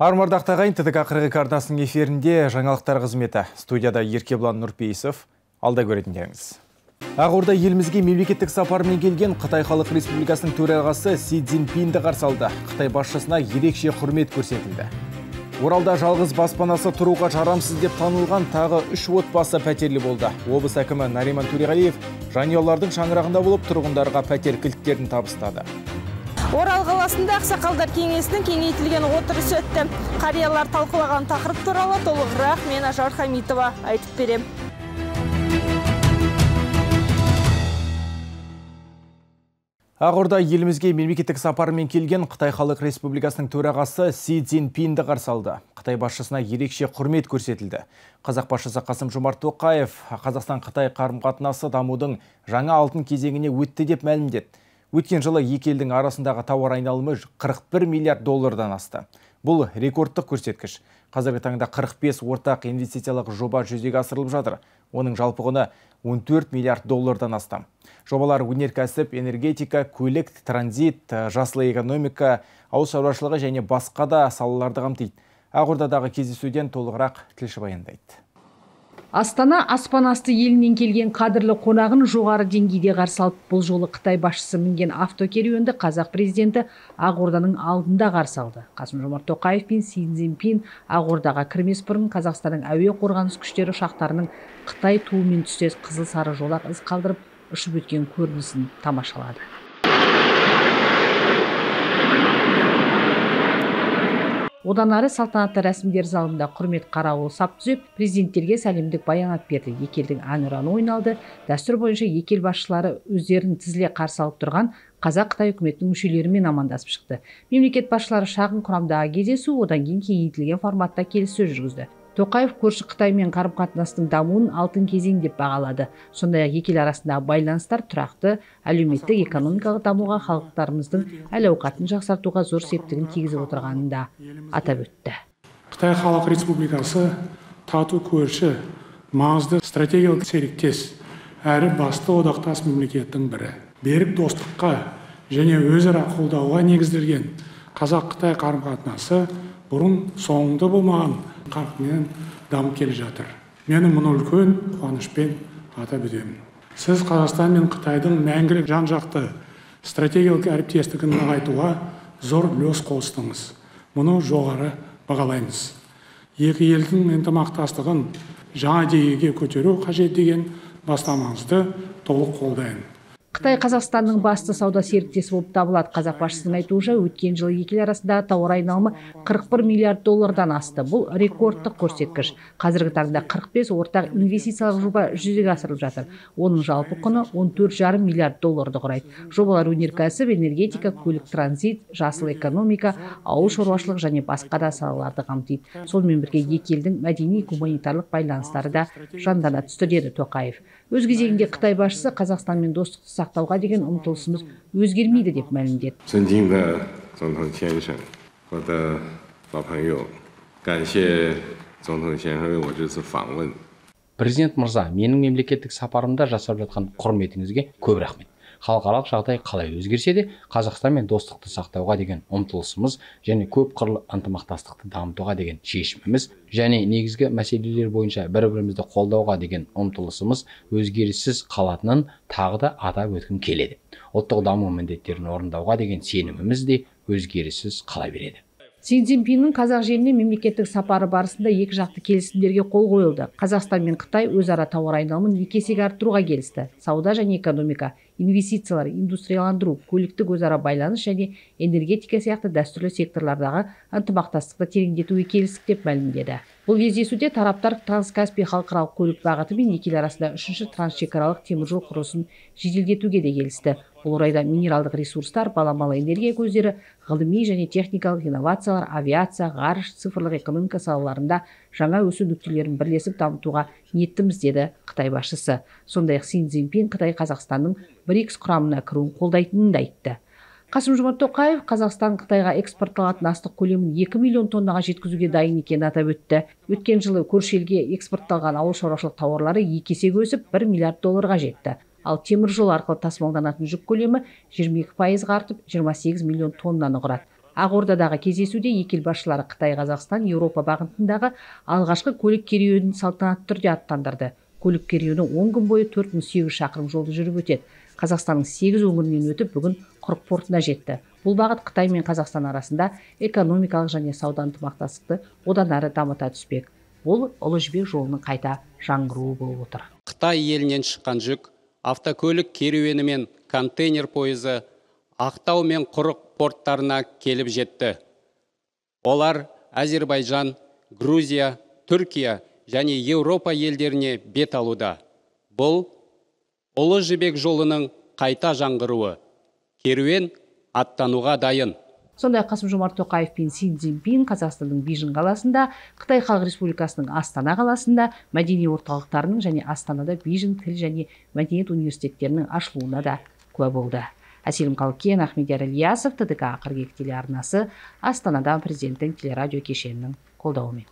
Армардақта ғайын ТТК 42 арнасының эфирінде жаңалықтар қызметі. Студияда Еркеблан Нұрпейісов. Алда көретіндеріңіз. Ақорда елімізге мемлекеттік сапармен келген Қытай Халық Республикасының төрағасы Си Цзиньпинді қарсы алды. Қытай басшысына ерекше құрмет көрсетілді. Оралда жалғыз баспанасы тұруға жарамсыз деп танылған тағы 3 отбасы пәтерлі болды. Облыс әкімі Нариман Төреғалиев жанұялардың шаңырағында болып тұрғындарға пәтер кілттерін табыстады. Орал қаласында ақсақалдар кеңесінің кеңейтілген отырысы өтті. Қариялар талқылаған тақырып туралы толығырақ мен Ажар Хамитова айтып берем. Ақорда елімізге мемлекеттік сапармен келген Қытай Халық Республикасының төрағасы Си Цзиньпинді қарсы алды. Қытай басшысына ерекше құрмет көрсетілді. Қазақ басшысы Қасым-Жомарт Тоқаев Қазақстан-Қытай қарым-қатынасы дамудың жаңа алтын кезеңіне өтті деп мәлімдеді. Өткен жылы екі елдің арасындағы тауар айналымы 41 миллиард доллардан асты. Бұл рекордтық көрсеткіш. Қазіргі таңда 45 ортақ инвестициялық жоба жүзеге асырылып жатыр. Оның жалпы құны 14 миллиард доллардан астам. Жобалар өнеркәсіп, энергетика, көлік, транзит, жасыл экономика, ауыл шаруашылығы және басқа да салаларды қамтиды. Ақордадағы кездесуден толығырақ тілші баяндайды. Астана аспан асты елінен келген қадірлі қонағын жоғары деңгейде қарсы алып, бұл жолы Қытай басшысы мінген автокеруенді қазақ президенті Ақорданың алдында қарсы алды. Қасым-Жомарт Тоқаев пен Си Цзиньпин Ақордаға кірмес бұрын Қазақстанның әуе қорғаныс күштері ұшақтарының Қытай туымен түстес қызыл сары жолақ із қалдырып ұшып өткен көрінісін тамашалады. Одан ары салтанатты рәсімдер залында құрмет қарауыл сап түзеп, президенттерге сәлемдік баянат берді. Екі елдің әнұраны ойналды. Дәстүр бойынша екі ел басшылары өздерін тізіле қарсы алып тұрған Қазақ-Қытай үкіметінің мүшелерімен амандасып шықты. Мемлекет басшылары шағын құрамдағы кездесу, одан кейін кеңейтілген форматта келіссөз жүргізді. Тоқаев көрші Қытаймен қарым-қатынастың дамуын алтын кезең деп бағалады. Сондай-ақ екі ел арасындағы байланыстар тұрақты, әлеуметтік экономикалық дамуға, халықтарымыздың әл-ауқатын жақсартуға зор септігін тигізіп отырғанын да атап өтті. Қытай Халық Республикасы тату көрші, маңызды стратегиялық серіктес, әрі басты одақтас мемлекеттің бірі. Берік достыққа және өзара қолдауға негізделген Қазақ-Қытай қарым-қатынасы бұрын соңды болмаған қарқынмен дамып келе жатыр. Мені мұны үлкен қуанышпен атап өтемін. Сіз Қазақстан мен Қытайдың мәңгілік жан-жақты стратегиялық әріптестігін нығайтуға зор үлес қостыңыз. Мұны жоғары бағалаймыз. Екі елдің ынтымақтастығын жаңа деңгейге көтеру қажет деген бастамаңызды толық қолдаймын. Қытай Қазақстанның басты сауда серіктесі болып табылады. Қазақ басшысының айтуынша, өткен жылы екі ел арасындағы тауар айналымы 41 миллиард доллардан асты. Бұл рекордтық көрсеткіш. Қазіргі таңда 45 ортақ инвестициялық жоба жүзеге асырылып жатыр. Оның жалпы құны 14,5 миллиард долларды құрайды. Жобалар өнеркәсіп, энергетика, көлік, транзит, жасыл экономика, ауыл шаруашылық және басқа да салаларды қамтиды. Сонымен бірге екі елдің мәдени-гуманитарлық байланыстары да жандана түсті деді Тоқаев. Өз кезегінде Қытай басшысы Қазақстанмен достықты сақтауға деген ұмтылысымыз өзгермейді деп мәлімдеді. Президент мырза, менің мемлекеттік сапарымда жасап жатқан құрметіңізге көп рахмет. Халықаралық жағдай қалай өзгерсе де, Қазақстанмен достықты сақтауға деген ұмтылысымыз және көп қырлы ынтымақтастықты дамытуға деген шешіміміз және негізгі мәселелер бойынша бір-бірімізді қолдауға деген ұмтылысымыз өзгеріссіз қалатынын тағы да атап өткім келеді. Ұлттық даму міндеттерін орындауға деген сеніміміз де өзгеріссіз қала береді. Си Цзиньпиннің қазақ жеріне мемлекеттік сапары барысында екі жақты келісімдерге қол қойылды. Қазақстан мен Қытай өзара тауар айналымын 2 есеге арттыруға келісті. Сауда және экономика, инвестициялар, индустрияландыру, көліктік өзара байланыс және энергетика сияқты дәстүрлі секторлардағы ынтымақтастықты тереңдетуге келістік деп мәлімдеді. Бұл кездесуде тараптар Транскаспий халықаралық көлік бағыты мен екі ел арасында 3-ші трансшекаралық теміржол құрылысын жеделдетуге де келісті. Бұл орайда минералдық ресурстар, баламалы энергия көздері, ғылыми және техникалық инновациялар, авиация, ғарыш, цифрлық экономика салаларында жаңа өсу нүктелерін бірлесіп дамытуға ниеттіміз деді Қытай басшысы. Сондай-ақ Си Цзиньпин Қытай Қазақстанның БРИКС құрамына кіруін қолдайтынын да айтты. Қасым-Жомарт Тоқаев Қазақстан Қытайға экспортталатын астық көлемін 2 миллион тоннаға жеткізуге дайын екенін атап өтті. Өткен жылы көрші елге экспортталған ауыл шаруашылық тауарлары 2 есеге өсіп 1 миллиард долларға жетті. Ал темір жол арқылы тасымалданатын жүк көлемі 22% артып 28 миллион тоннаны құрады. Ақордадағы кездесуде екі ел басшылары Қытай, Қазақстан, Еуропа бағытындағы алғашқы көлік керуенін салтанатты түрде аттандырды. Көлік керуені 10 күн бойы 4800 шақырым жолды жүріп өтеді. Қазақстанның 8 өңірінен өтіп, бүгін Құрық портына жетті. Бұл бағыт Қытай мен Қазақстан арасында экономикалық және сауда ынтымақтастықты одан әрі дамыта түспек. Бұл Ұлы Жібек жолының қайта жаңғыруы болып отыр. Қытай елінен шыққан жүк автокөлік керуені мен контейнер пойызы Ақтау мен Құрық порттарына келіп жетті. Олар Әзербайжан, Грузия, Түркия және Еуропа елдеріне бет алуда. Бұл Ұлы Жібек жолының қайта жаңғыруы. Керуен аттануға дайын. Сондай Қасым-Жомарт Тоқаев пен Си Цзиньпин Қазақстанның Бейжің қаласында, Қытай Халық Республикасының Астана қаласында мәдени орталықтарының және Астанада Бейжің тіл және мәдениет университеттерінің ашылуына да куә болды. Әселім Қалкен, Ахмедияр Ильясов, ТДК қырғек телеарнасы, Астанадан президенттің телерадио кешенінің қолдауымен.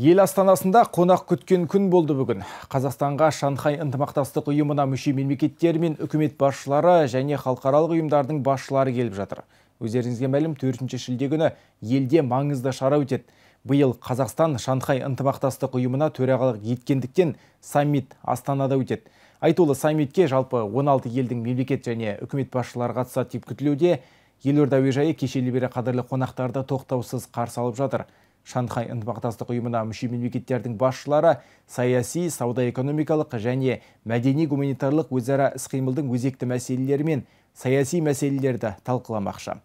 Ел астанасында қонақ күткен күн болды бүгін. Қазақстанға Шанхай ынтымақтастық ұйымына мүше мемлекеттер мен үкімет басшылары және халықаралық ұйымдардың басшылары келіп жатыр. Өздеріңізге мәлім 4 шілде күні елде маңызды шара өтеді. Биыл Қазақстан Шанхай ынтымақтастық ұйымына төрағалық еткендіктен саммит Астанада өтеді. Айтулы саммитке жалпы 16 елдің мемлекет және үкімет басшылары қатысады деп күтілуде. Елорда әуежайы кешелі бері қадірлі қонақтарды тоқтаусыз қарсы алып жатыр. Шанхай ынтымақтастық ұйымына мүше мемлекеттердің басшылары саяси, сауда-экономикалық және мәдени-гуманитарлық өзара іс-қимылдың өзекті мәселелері мен саяси мәселелерді талқыламақшы.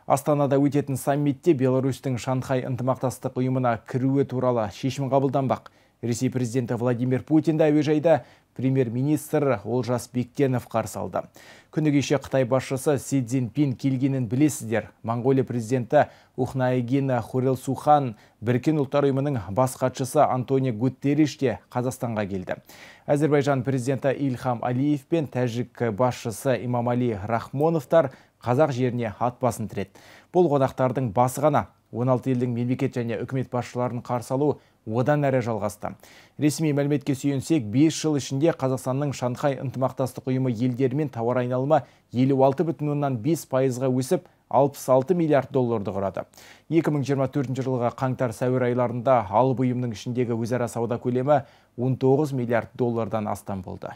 Астанада өтетін саммитте Беларусьтің Шанхай ынтымақтастық ұйымына кіруі туралы шешім қабылданбақ. Ресей президенті Владимир Путинді әуежайда премьер-министр Олжас Бектенов қарсы алды. Күні кеше Қытай басшысы Си Цзиньпин келгенін білесіздер. Моңғолия президенті Ухнаагийн Хурэлсухан, Біріккен ұлттар ұйымының бас хатшысы Антонио Гутерриш те Қазақстанға келді. Әзербайжан президенті Ильхам Алиев пен тәжік басшысы Имамали Рахмоновтар қазақ жеріне ат басын тіреді. Бұл қонақтардың басы ғана. 16 елдің мемлекет және үкімет басшыларын қарсы алу одан әрі жалғасты. Ресми мәліметке сүйенсек, 5 жыл ішінде Қазақстанның Шанхай ынтымақтастық ұйымы елдерімен тауар айналымы 56,5%-ға өсіп, 66 миллиард долларды құрады. 2024 жылға қаңтар-сәуір айларында алып ұйымның ішіндегі өзара сауда көлемі 19 миллиард доллардан астам болды.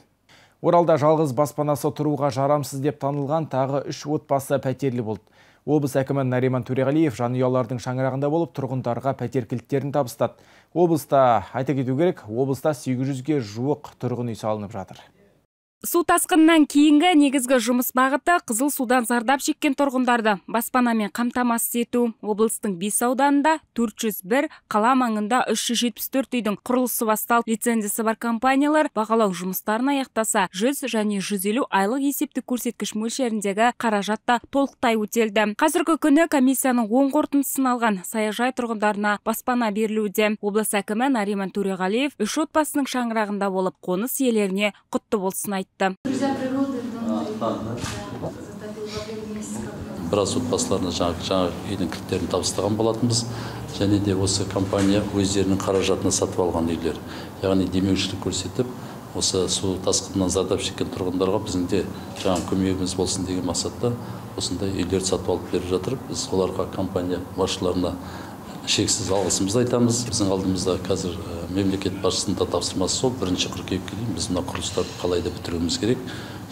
Оралда жалғыз баспанасы тұруға жарамсыз деп танылған тағы 3 отбасы пәтерлі болды. Облыс әкімі Нариман Төреғалиев жанұялардың шаңырағында болып тұрғындарға пәтер кілттерін табыстады. Облыста, айта кету керек, облыста 800-ге жуық тұрғын үй салынып жатыр. Су тасқынынан кейінгі негізгі жұмыс бағыты қызыл судан зардап шеккен тұрғындарды баспанамен қамтамасыз ету. Облыстың 5 ауданында 401, қала маңында 374 үйдің құрылысы басталып, лицензиясы бар компаниялар бағалау жұмыстарын аяқтаса, 100 және 150 айлық есептік көрсеткіш мөлшеріндегі қаражатта толықтай өтелді. Қазіргі күні комиссияның оң қорытындысын алған саяжай тұрғындарына баспана берілуде. Облыс әкімі Нариман Төреғалиев 3 отбасының шаңырағында болып, қоныс иелеріне құтты болсын айтты. Біраз отбасыларына жаңа үйдің кілттерін табыстаған болатынбыз. Және де осы компания өздерінің қаражатына сатып алған үйлер. Яғни демеушілік көрсетіп, осы су тасқынынан зардап шеккен тұрғындарға біздің де жаңа көмегіміз болсын деген мақсатта осындай үйлерді сатып алып беріп жатыр. Біз оларға компания басшыларына шексіз алғысымызды айтамыз. Біздің алдымызда қазір мемлекет басшысының да тапсырмасы сол, 1 қыркүйекке дейін біз мына құрылыстарды қалайда бітіруіміз керек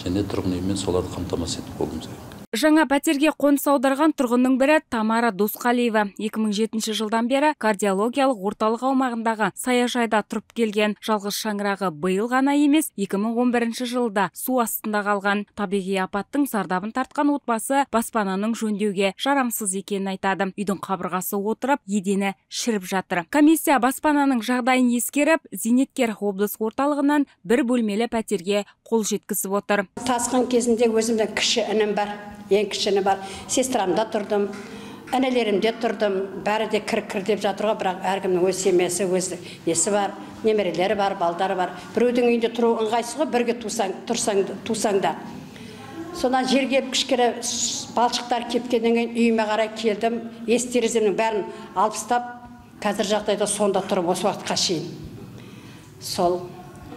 және тұрғын үймен соларды қамтамасыз етіп болуымыз керек. Жаңа пәтерге қоныс аударған тұрғынның бірі Тамара Досқалиева. 2007 жылдан бері кардиологиялық орталық аумағындағы саяжайда тұрып келген. Жалғыз шаңырағы биыл ғана емес, 2011 жылда су астында қалған. Табиғи апаттың зардабын тартқан отбасы баспананың жөндеуге жарамсыз екенін айтады. Үйдің қабырғасы отырып, едені шіріп жатыр. Комиссия баспананың жағдайын ескеріп, зейнеткер облыс орталығынан 1 бөлмелі пәтерге қол жеткізіп отыр. Тасқын кезінде өзімде кіші інім бар. Ең кішіні бар. Сестрамда тұрдым, әнелерімде тұрдым. Бәрі де кір деп жатырға, бірақ әркімнің өз семьясы, өз несі бар, немерелері бар, балдары бар. Біреудің үйінде тұру ыңғайсыз, бірге тусаң да. Сонан жерге кішкене балшықтар кепкеннен кейін үйіме қарай келдім. Тереземнің бәрін алып тастап, қазір жағдайда сонда тұрып осы уақытқа шейін. Сол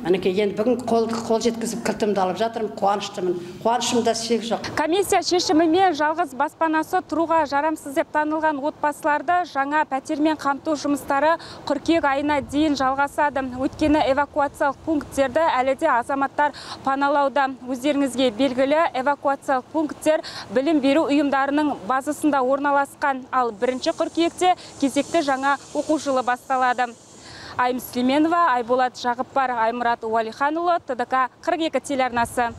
Мінекей енді бүгін қол жеткізіп кілтімді алып жатырмын, қуаныштымын. Қуанышымда шек жоқ. Комиссия шешімімен жалғыз баспанасы тұруға жарамсыз деп танылған отбасыларды жаңа пәтермен қамту жұмыстары қыркүйек айына дейін жалғасады. Өйткені эвакуациялық пункттерді әлі де азаматтар паналауда. Өздеріңізге белгілі, эвакуациялық пункттер білім беру ұйымдарының базасында орналасқан, ал 1 қыркүйекте кезекті жаңа оқу жылы басталады. Айым Сүлейменова, Айболат Жағыппар, Аймұрат Уалиханұлы, ТДК 42 телеарнасы.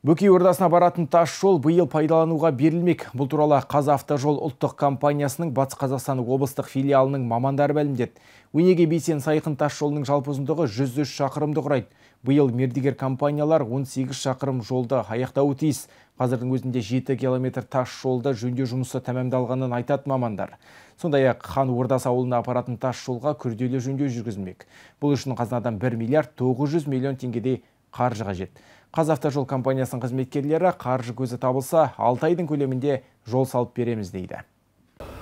Бөкей Ордасына баратын тас жол биыл пайдалануға берілмек. Бұл туралы Қазавтожол ұлттық компаниясының Батыс Қазақстан облыстық филиалының мамандары мәлімдеді. Өнеге Бейсен Сайқын тас жолының жалпы ұзындығы 103 шақырымды құрайды. Биыл мердігер компаниялар 18 шақырым жолды аяқтауы тиіс. Қазірдің өзінде 7 километр тас жолда жөндеу жұмысы тәмамдалғанын айтады мамандар. Сондай-ақ Хан Ордасы ауылына апаратын тас жолға күрделі жөндеу жүргізілмек. Бұл үшін қазынадан 1 миллиард 900 миллион теңгедей қаржы қажет. Қазавтожол компаниясының қызметкерлері қаржы көзі табылса 6 айдың көлемінде жол салып береміз дейді.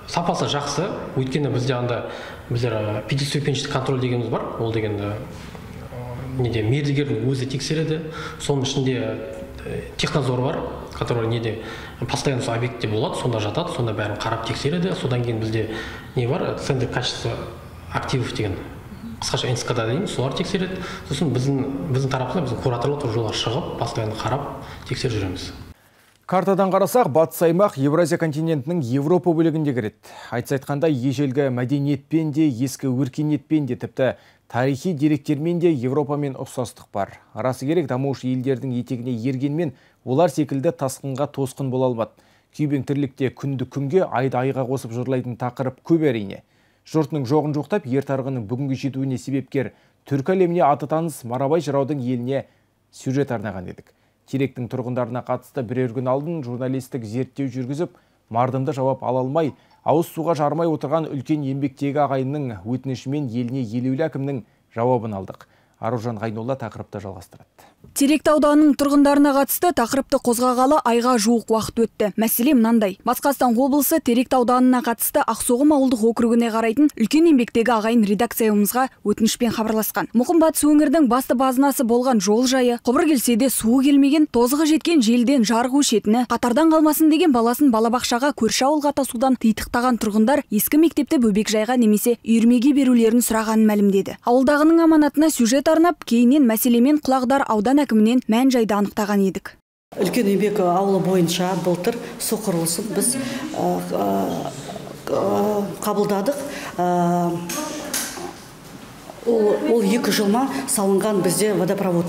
Сапасы жақсы, өйткені бізде біздер пятиступенчатый контроль дегеніміз бар. Ол дегенде мердігердің өзі тексереді. Соның ішінде технадзор бар, который постоянно объектте болады, сонда жатады, сонда бәрін қарап тексереді. Содан кейін бізде бар, центр качества активов деген. Қысқаша НСК-да дейін, солар тексереді. Сосын біздің тарапынан біздің кураторлар жолға шығып, постоянно қарап тексеріп жүреміз. Картадан қарасақ, батыс аймақ Евразия континентінің Европа бөлігінде кіреді. Айтса-айтқанда ежелгі мәдениетпен де, ескі өркениетпен де, тіпті тарихи деректермен де Европамен ұқсастық бар. Расы керек, дамушы елдердің етегіне ергенмен олар секілді тасқынға тосқын бола алмады. Күйбең тірлікте күнді күнге, айды айға қосып жырлайтын тақырып көп әрине. Жұртының жоғын жоқтап, ер тарғының бүгінгі жетуіне себепкер түркі әлеміне аты таныс Марабай жыраудың еліне сюжет арнаған едік. Теректің тұрғындарына қатысты бірер күн алдын журналистік зерттеу жүргізіп, мардымды жауап ала алмай, ауыз суға жармай отырған үлкен еңбектегі ағайынның өтінішімен еліне елеулі әкімнің жауабын алдық. Аружан Ғайнолла тақырыпты жалғастырады. Теректі ауданының тұрғындарына қатысты тақырыпты қозғағалы айға жуық уақыт өтті. Мәселе мынандай. Батыс Қазақстан облысы Теректі ауданына қатысты Ақсоғым ауылдық округіне қарайтын үлкен еңбектегі ағайын редакциямызға өтінішпен хабарласқан. Мұқым Батыс өңірдің басты базынасы болған жол жайы, құбыр келсе де суы келмеген, тозығы жеткен желден жарық өшетіні, қатардан қалмасын деген баласын балабақшаға көрші ауылға тасудан титықтаған тұрғындар ескі мектепті бөбекжайға немесе үйірмеге берулерін сұрағанын мәлімдеді. Ауылдағының аманатына сюжет арнап, кейіннен мәселемен құлағдар аудан әкімінен мән жайды анықтаған едік. Үлкен еңбек ауылы бойынша былтыр су құрылысын біз қабылдадық. Ол 2 жылма салынған бізде водопровод.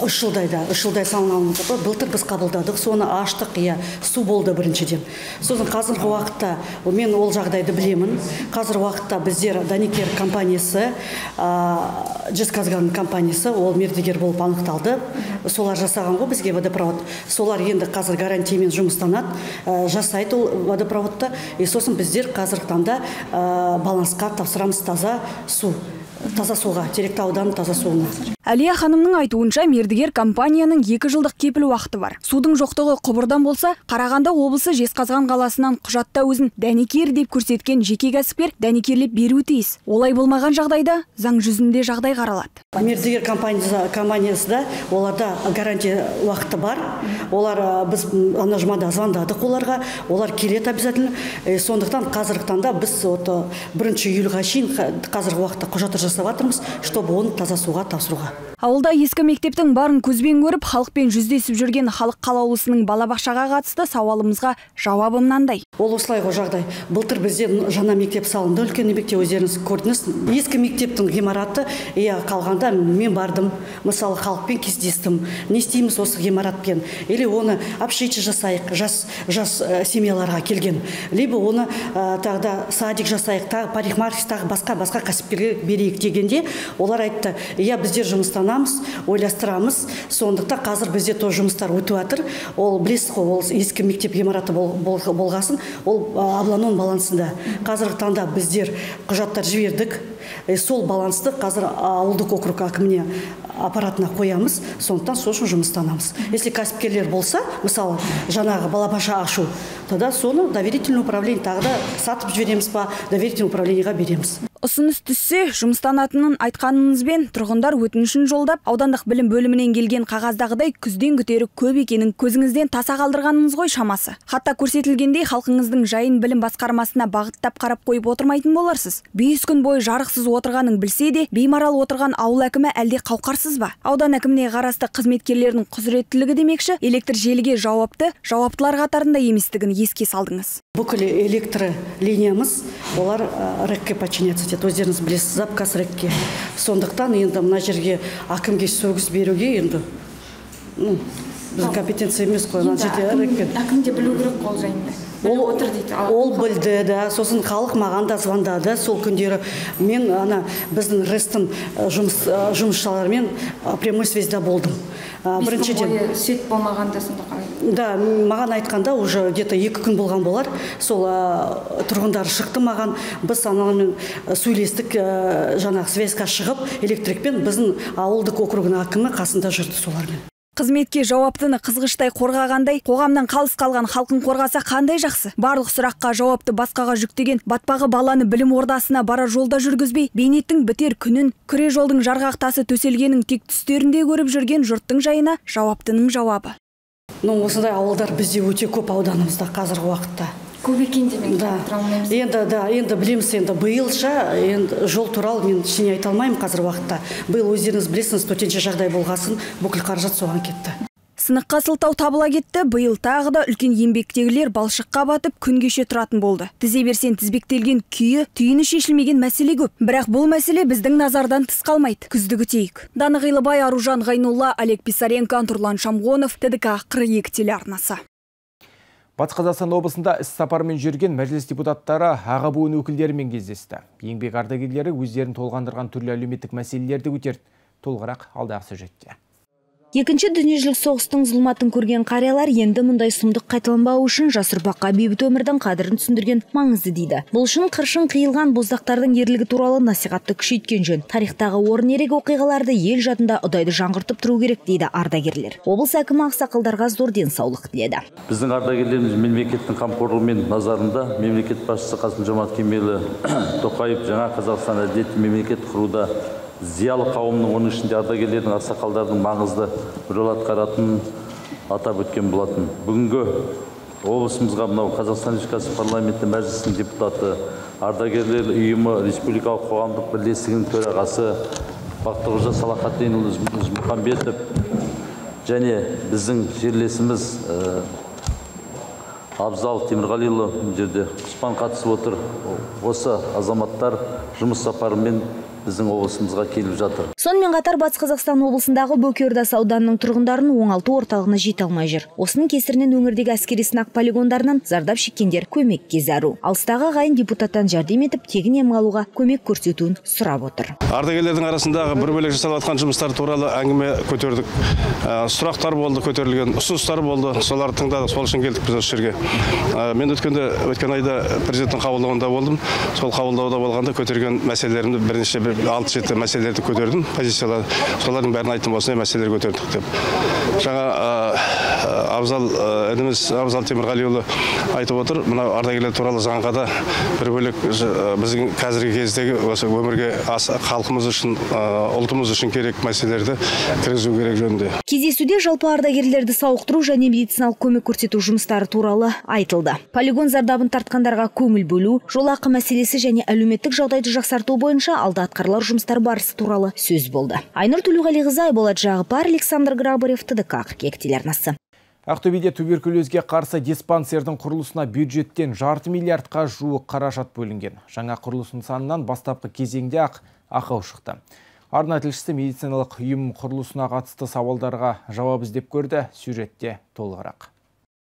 3 жылдай салынған. Былтыр біз қабылдадық, соны аштық, су болды біріншіден. Сосын қазіргі уақытта, мен ол жағдайды білемін. Қазір уақытта біздер Даникер компаниясы, Жезказган компаниясы, ол мердігер болып анықталды. Солар жасаған ғой бізге водопровод. Солар енді қазір гарантиямен жұмыстанады, жасайды ол водопроводты. Сосын біздер қазіргі таңда балансқа тапсырамыз таза суға, Теректі ауданының таза суына. Әлия ханымның айтуынша мердігер компанияның 2 жылдық кепіл уақыты бар. Судың жоқтығы құбырдан болса, Қарағанды облысы Жезқазған қаласынан құжатта өзін дәнекер деп көрсеткен жеке кәсіпкер дәнекерлеп беруі тиіс. Олай болмаған жағдайда заң жүзінде жағдай қаралады. Мердігер компаниясында оларда гарантия уақыты бар. Олар біз ана жұмада звондадық оларға, олар келеді обязательно. Сондықтан қазіргі таңда біз 1 июльға шейін қазіргі уақытта құжаты жасап жатырмыз, чтобы оны таза суға тапсыруға. Ауылда ескі мектептің барын көзбен көріп, халықпен жүздесіп жүрген халық қалаулысының балабақшаға қатысты сауалымызға жауабы мынандай. Ол осылай ғой жағдай. Былтыр бізде жаңа мектеп салынды, үлкен еңбекте өздеріңіз көрдіңіз. Ескі мектептің ғимараты қалғанда мен бардым, мысалы халықпен кездестім. Не істейміз осы ғимаратпен? Или оны общежитие жасайық, жас семьяларға келген. Либо оны тағда садик жасайық, парикмахерская, басқа кәсіпкерге берейік дегенде, олар айтты, біздер жұмыстанамыз, ойластырамыз. Сондықтан қазір бізде то жұмыстар өтіп жатыр. Ол білесіз ғой, ол ескі мектеп ғимараты болғасын, ол обланың балансында. Қазіргі таңда біздер құжаттар жібердік. Сол балансты қазір ауылдық округ әкіміне аппаратына қоямыз, сондықтан сол үшін жұмыстанамыз. Если кәсіпкерлер болса, мысалы, жаңағы балабақша ашу, тогда соны доверительный управление тағы да сатып жібереміз ба, доверительный управлениеға береміз. Ұсыныс түссе, жұмыстанатынын айтқаныңызбен тұрғындар өтінішін жолдап, аудандық білім бөлімінен келген қағаздағыдай күзден күтері көп екенін көзіңізден таса қалдырғаныңыз ғой шамасы. Хатта көрсетілгендей халқыңыздың жайын білім басқармасына бағыттап қарап қойып отырмайтын боларсыз. 5 күн бойы жарықсыз отырғанын білсе де, беймарал отырған ауыл әкімі әлде қауқарсыз ба? Аудан әкіміне қарасты қызметкерлердің құзыреттілігі демекші, электр желіге жауаптылар қатарында еместігін еске салдыңыз. Бүкіл электр линиямыз, олар рэкке подчиняться. Өздеріңіз білесіз, запказ рэкке. Сондықтан енді мына жерге әкімге сөгіс беруге енді біздің компетенция емес қой. Әкімде білу керек қол жайында. Ол білді, да, сосын халық маған да звондады сол күндері. Мен біздің рестін жұмысшылармен прямой связьда болдым. Біріншіден свет болмағанда сонда қалай? Да, маған айтқанда уже где-то 2 күн болған болар. Сол тұрғындар шықты маған, біз аналармен сөйлестік, жаңағы связьға шығып, электрикпен біздің ауылдық округінің әкімі қасында жүрді солармен. Қызметке жауаптыны қызғыштай қорғағандай, қоғамнан қалыс қалған халқын қорғаса қандай жақсы. Барлық сұраққа жауапты басқаға жүктеген батпағы баланы білім ордасына бара жолда жүргізбей, бейнеттің бітер күнін, күре жолдың жарғақ тасы төселгенің тек түстерінде көріп жүрген жұрттың жайына жауаптының жауабы. Осындай ауылдар бізде өте көп ауданымызда қазіргі уақытта. Көп екен демек. Енді білеміз, енді биылша жол туралы мен ештеңе айта алмаймын қазір уақытта. Биыл өздеріңіз білесіңіз, төтенше жағдай болғасын, бүкіл қаражат соған кетті. Сыныққа сылтау табыла кетті, биыл тағы да үлкен еңбектегілер балшыққа батып күн кеше тұратын болды. Тізе берсен тізбектелген түйіні шешілмеген мәселе көп. Бірақ бұл мәселе біздің назардан тыс қалмайды. Күзді күтейік. Даны Ғилыбай, Аружан Ғайнулла, Олег Писаренко, Турлан Шамғонов, ТДК 42 телеарнасы. Батыс Қазақстан облысында іс сапармен жүрген мәжіліс депутаттары аға буын өкілдерімен кездесті. Еңбек ардагерлері өздерін толғандырған түрлі әлеуметтік мәселелерді көтерді. Толығырақ алдағы сюжетте. Екінші дүниежүзілік соғыстың зұлматын көрген қариялар енді мұндай сұмдық қайталанбауы үшін жас ұрпаққа бейбіт өмірдің қадірін түсіндірген маңызды дейді. Бұл үшін қыршын қиылған боздақтардың ерлігі туралы насихатты күшейткен жөн. Тарихтағы орын ерек оқиғаларды ел жадында ұдайды жаңғыртып тұру керек дейді ардагерлер. Облыс әкімі ақсақалдарға зор денсаулық тіледі. Біздің ардагерлеріміз мемлекеттің қамқорлығымен назарында, мемлекет басшысы Қасым-Жомарт Кемелұлы Тоқаев жаңа Қазақстан әділетті мемлекет құруда зиялы қауымның, оның ішінде ардагерлердің, ақсақалдардың маңызды рөл атқаратынын атап өткен болатын. Бүгінгі облысымызға мынау Қазақстан Республикасы парламенті мәжілісінің депутаты, ардагерлер ұйымы, республикалық қоғамдық бірлестігінің төрағасы Бақтықожа Салахатдинұлы Ізмұхамбетов және біздің жерлесіміз Абзал Темірғалиұлы жерде құспан қатысып отыр. Осы азаматтар жұмыс сапарымен біздің облысымызға келіп жатыр. Сонымен қатар Батыс Қазақстан облысындағы Бөкеордас ауданының тұрғындарын оңалту орталығына жете алмай жүр. Осының кесірінен өңірдегі әскери сынақ полигондарынан зардап шеккендер көмекке зәру. Алыстағы ағайын депутаттан жәрдем етіп, тегін ем алуға көмек көрсетуін сұрап отыр. Ардагерлердің арасындағы бір бөлек жасалып жатқан жұмыстар туралы әңгіме көтердік. Сұрақтар болды, көтерілген ұсыныстар болды. Соларды тыңдадық, сол үшін келдік біз осы жерге. Мен өткен айда президенттің қабылдауында болдым. Сол қабылдауда болғанда көтерген мәселелерімді бірнеше 6-7 мәселелерді көтердім, позициялар, солардың бәрін айттым, осындай мәселелер көтердік деп. Жаңа Абзал Темірғалиұлы айтып отыр, мына ардагерлер туралы заңға да бір бөлек біздің қазіргі кездегі осы өмірге халқымыз үшін, ұлтымыз үшін керек мәселелерді кіргізу керек жөнінде. Кездесуде жалпы ардагерлерді сауықтыру және медициналық көмек көрсету жұмыстары туралы айтылды. Полигон зардабын тартқандарға көңіл бөлу, жолақы мәселесі және әлеуметтік жағдайды жақсарту бойынша алда атқарылар жұмыстар барысы туралы сөз болды. Айнұр Төлеуғалиқызы, Айболат Жағыпар, Александр Грабарев, ТДК 42 телеарнасы. Ақтөбеде туберкулезге қарсы диспансердің құрылысына бюджеттен $500 миллиардқа жуық қаражат бөлінген. Жаңа құрылыс нысанынан бастапқы кезеңде ақау шықты. Арна тілшісі медициналық ұйым құрылысына қатысты сауалдарға жауап іздеп көрді. Сюжетте толығырақ.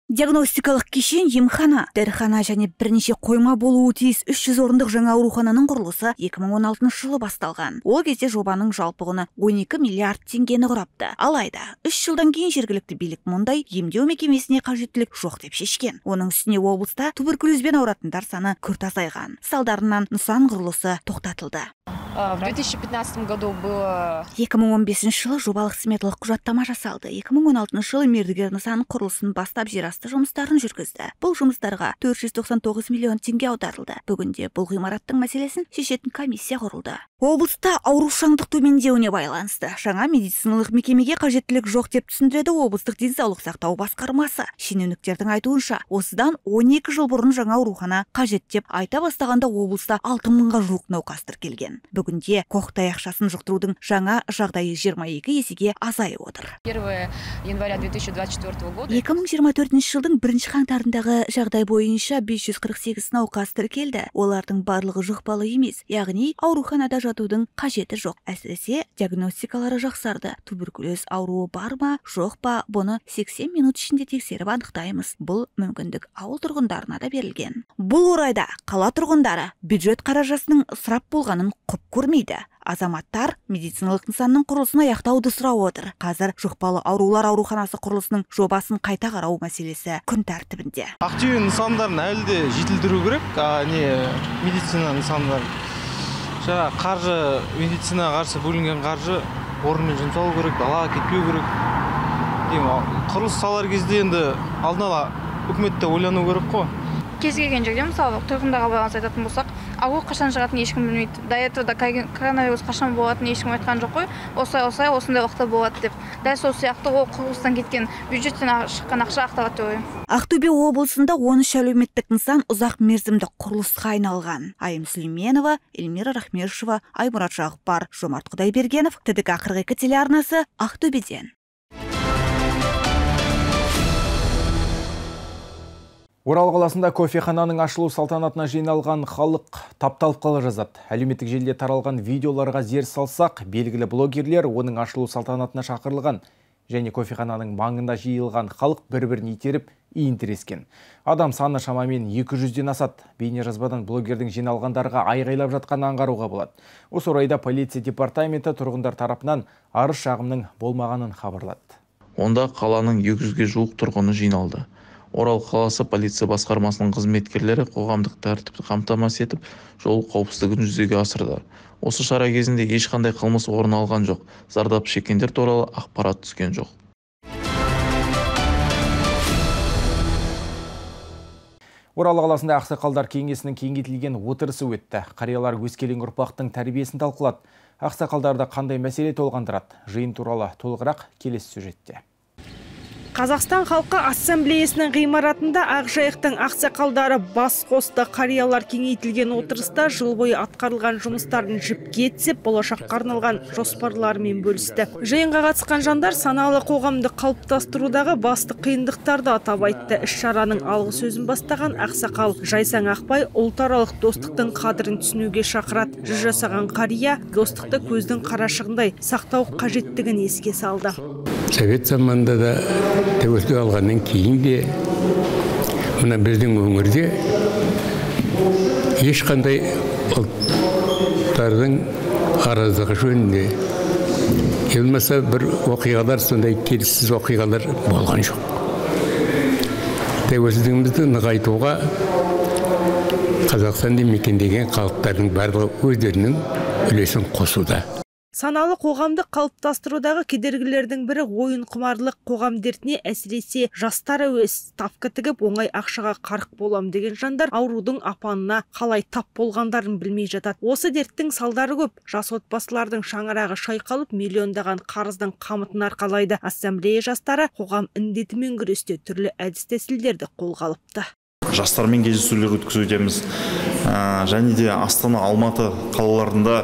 Диагностикалық кешен, емхана, дәріхана және бірнеше қойма болуы тиіс 300 орындық жаңа аурухананың құрылысы 2016 жылы басталған. Ол кезде жобаның жалпы құны 12 миллиард теңгені құрапты. Алайда, 3 жылдан кейін жергілікті билік мұндай емдеу мекемесіне қажеттілік жоқ деп шешкен. Оның үстіне облыста туберкулезбен ауыратындар саны күрт азайған. Салдарынан нысан құрылысы тоқтатылды. В 2015 году было... 2015 жылы жобалық сметалық құжаттама жасалды. 2016 жылы мердігер нысан құрылысын бастап жерасты жұмыстарын жүргізді. Бұл жұмыстарға 499 миллион теңге аударылды. Бүгінде бұл ғимараттың мәселесін шешетін комиссия құрылды. Облыста аурушаңдық төмендеуіне байланысты жаңа медициналық мекемеге қажеттілік жоқ деп түсіндіреді облыстық денсаулық сақтау басқармасы. Шенеуніктердің айтуынша, осыдан 12 жыл бұрын жаңа аурухана қажет деп айта бастағанда облыста 6000-ға жуық науқас тіркелген. Бүгінде коқтай ақшасын жұқтырудың жаңа жағдайы 22 есеге азайып отыр. 1 января 2024 года 2024 жылдың 1 қаңтарындағы жағдай бойынша 548 науқас тіркелді. Олардың барлығы жұқпалы емес, яғни ауруханада жатудың қажеті жоқ. Әсіресе диагностикалары жақсарды. Туберкулез ауруы бар ма, жоқ па, бұны 80 минут ішінде тексеріп анықтаймыз. Бұл мүмкіндік ауыл тұрғындарына да берілген. Бұл орайда қала тұрғындары бюджет қаражатының ысырап болғанын құп көрмейді. Азаматтар медициналық нысанның құрылысын аяқтауды сұрап отыр. Қазір жұқпалы аурулар ауруханасы құрылысының жобасын қайта қарау мәселесі күн тәртібінде. Ақтөбе нысандарын әлі де жетілдіру керек, медицина нысандарын. Жаңа қаржы, медицинаға қарсы бөлінген қаржы орнымен жұмсалу керек, далаға кетпеу керек. Құрылыс салар кезде енді алдын ала үкіметте ойлану керек қой. Кез келген жерде, мысалы, тұрғындарға байланысты айтатын болсақ, ауру қашан шығатынын ешкім білмейді. До этого коронавирус қашан болатынын ешкім айтқан жоқ қой. Осылай осындай уақытта болады деп. Дәл сол сияқты ол құрылыстан кеткен бюджеттен шыққан ақша ақталады деп ойлаймын. Ақтөбе облысында 13 әлеуметтік нысан ұзақ мерзімді құрылысқа айналған. Айым Сүлейменова, Эльмира Рахмешева, Аймұрат Жағыпар, Жомарт Құдайбергенов, ТДК 42 телеарнасы, Ақтөбеден. Орал қаласында кофехананың ашылу салтанатына жиналған халық тапталып қала жазады. Әлеуметтік желіде таралған видеоларға зер салсақ, белгілі блогерлер оның ашылу салтанатына шақырылған және кофехананың маңында жиылған халық бір-бірін итеріп иін тірескен. Адам саны шамамен 200-ден асады. Бейнежазбадан блогердің жиналғандарға айғайлап жатқанын аңғаруға болады. Осы орайда полиция департаменті тұрғындар тарапынан арыз шағымның болмағанын хабарлады. Онда қаланың 200-ге жуық тұрғыны жиналды. Орал қаласы полиция басқармасының қызметкерлері қоғамдық тәртіпті қамтамасыз етіп, жол қауіпсіздігін жүзеге асырды. Осы шара кезінде ешқандай қылмыс орын алған жоқ. Зардап шеккендер туралы ақпарат түскен жоқ. Орал қаласында ақсақалдар кеңесінің кеңейтілген отырысы өтті. Қариялар өскелең ұрпақтың тәрбиесін талқылады. Ақсақалдарды қандай мәселе толғандырады? Жиын туралы толығырақ келесі сюжетте. Қазақстан халқы ассамблеясының ғимаратында Ақжайықтың ақсақалдары бас қосты. Қариялар кеңейтілген отырыста жыл бойы атқарылған жұмыстарын жіпке тізіп, болашаққа арналған жоспарларымен бөлісті. Жиынға қатысқан жандар саналы қоғамды қалыптастырудағы басты қиындықтарды атап айтты. Іс-шараның алғы сөзін бастаған ақсақал Жайсаң Ақбай ұлтаралық достықтың қадірін түсінуге шақырады. Жүз жасаған қария достықты көздің қарашығындай сақтау қажеттігін еске салды. Совет заманында да тәуелсіздік алғаннан кейін де мына біздің өңірде ешқандай ұлттардың араздығы жөнінде келмесе бір оқиғалар, сондай келіссіз оқиғалар болған жоқ. Тәуелсіздігімізді нығайтуға Қазақстанды мекендеген халықтардың барлығы өздерінің үлесін қосуда. Саналы қоғамды қалыптастырудағы кедергілердің бірі ойын құмарлық. Қоғам дертіне әсіресе жастар әуес. Ставка тігіп оңай ақшаға қарық болам деген жандар аурудың апанына қалай тап болғандарын білмей жатады. Осы дерттің салдары көп. Жас отбасылардың шаңырағы шайқалып, миллиондаған қарыздың қамытын арқалайды. Ассамблея жастары қоғам індетімен күресте түрлі әдіс-тәсілдерді қолға алыпты. Жастармен кездесулер өткізудеміз. Және де Астана, Алматы қалаларында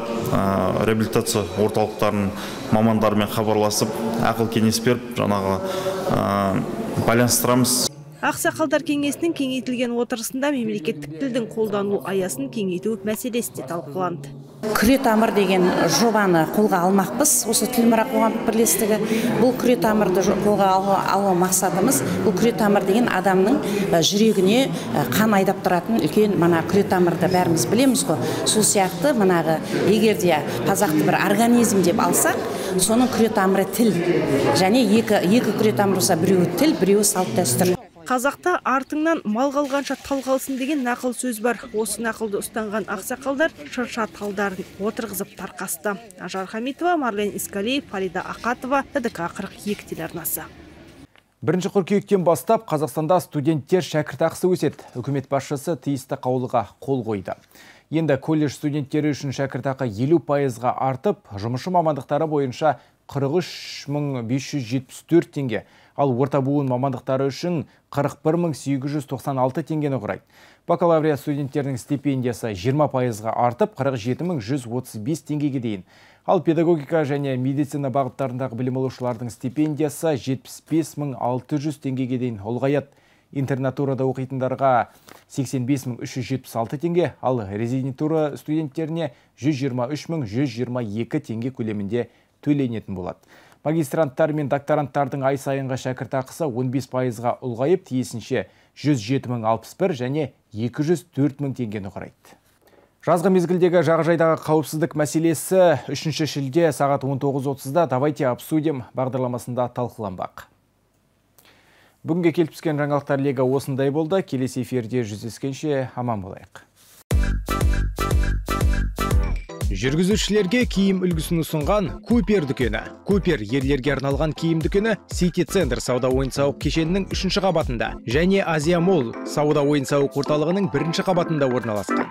реабилитация орталықтарының мамандарымен хабарласып, ақыл кеңес беріп, жаңағы байланыстырамыз. Ақсақалдар кеңесінің кеңейтілген отырысында мемлекеттік тілдің қолдану аясын кеңейту мәселесі де талқыланды. Күре тамыр деген жобаны қолға алмақпыз. Осы Тілмұра қоғамдық бірлестігі. Бұл күре тамырды қолға алу мақсатымыз. Бұл күре тамыр деген адамның жүрегіне қан айдап тұратын үлкен мына күре тамырды бәріміз білеміз ғой. Сол сияқты манағы егерде қазақты бір организм деп алсақ, соның күре тамыры тіл. Және екі күре тамыр болса, біреуі тіл, біреуі салт дәстүр. Қазақта артыңнан мал қалғанша тал қалсын деген нақыл сөз бар. Осы нақылды ұстанған ақсақалдар шырша талдарын отырғызып тарқасты. Ажар Хамитова, Марлен Искалиев, Фарида Ақатова, ТДК 42 телеарнасы. 1 қыркүйектен бастап Қазақстанда студенттер шәкіртақысы өседі. Үкімет басшысы тиісті қаулыға қол қойды. Енді колледж студенттері үшін шәкіртақы 50%-ға артып, жұмысшы мамандықтары бойынша 43.574 теңге, ал орта буын мамандықтары үшін 41.896 теңгені құрайды. Бакалавриат студенттерінің стипендиясы 20%-ға артып, 47.135 теңгеге дейін. Ал педагогика және медицина бағыттарындағы білім алушылардың стипендиясы 75.600 теңгеге дейін ұлғаяды. Интернатурада оқитындарға 85.376 теңге, ал резидентура студенттеріне 123.122 теңге көлемінде төленетін болады. Магистранттар мен докторанттардың ай сайынғы шәкіртақысы 15%-ға ұлғайып, тиісінше 107.061 және 204.000 теңгені құрайды. Жазғы мезгілдегі жағажайдағы қауіпсіздік мәселесі 3 шілде сағат 19:30-да «Давайте обсудим» бағдарламасында талқыланбақ. Бүгінге келіп түскен жаңалықтар легі осындай болды. Келесі эфирде жүздескенше аман болайық. Жүргізушілерге киім үлгісін ұсынған Купер дүкені. Купер ерлерге арналған киім дүкені Сити Центр сауда ойын-сауық кешенінің 3-ші қабатында және Азия Молл сауда ойын-сауық орталығының 1-ші қабатында орналасқан.